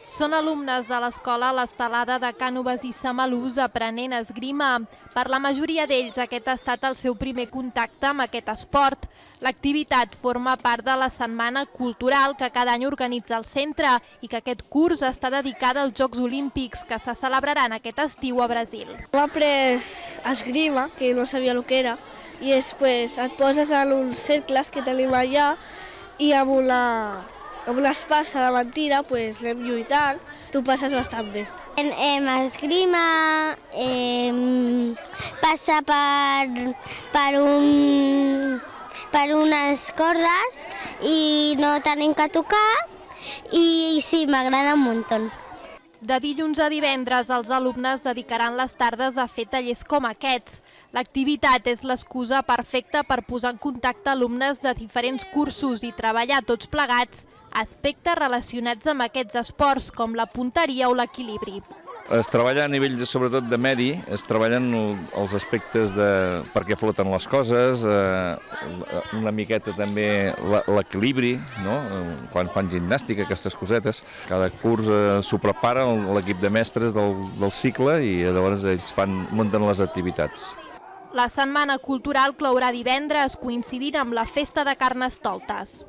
Són alumnes de l'escola l'Estelada de Cànoves i Samalús aprenent esgrima. Per la majoria d'ells aquest ha estat el seu primer contacte amb aquest esport. L'activitat forma part de la setmana cultural que cada any organitza el centre i que aquest curs està dedicada als Jocs Olímpics que se celebraran aquest estiu a Brasil. Hem après esgrima, que no sabia el que era, i després et poses en uns cercles que tenim allà i amb una espasa de mentira anem lluitant, tu passes bastant bé. Esgrima passa per unes cordes i no tenim que tocar i sí, m'agrada un muntó. De dilluns a divendres, els alumnes dedicaran les tardes a fer tallers com aquests. L'activitat és l'excusa perfecta per posar en contacte alumnes de diferents cursos i treballar tots plegats aspectes relacionats amb aquests esports, com la punteria o l'equilibri. Es treballa a nivell, sobretot, de medi, es treballen els aspectes de per què floten les coses, una miqueta també l'equilibri, no? Quan fan gimnàstica, aquestes cosetes. Cada curs s'ho prepara l'equip de mestres del cicle i llavors ells munten les activitats. La setmana cultural clourà divendres, coincidint amb la festa de Carnestoltes.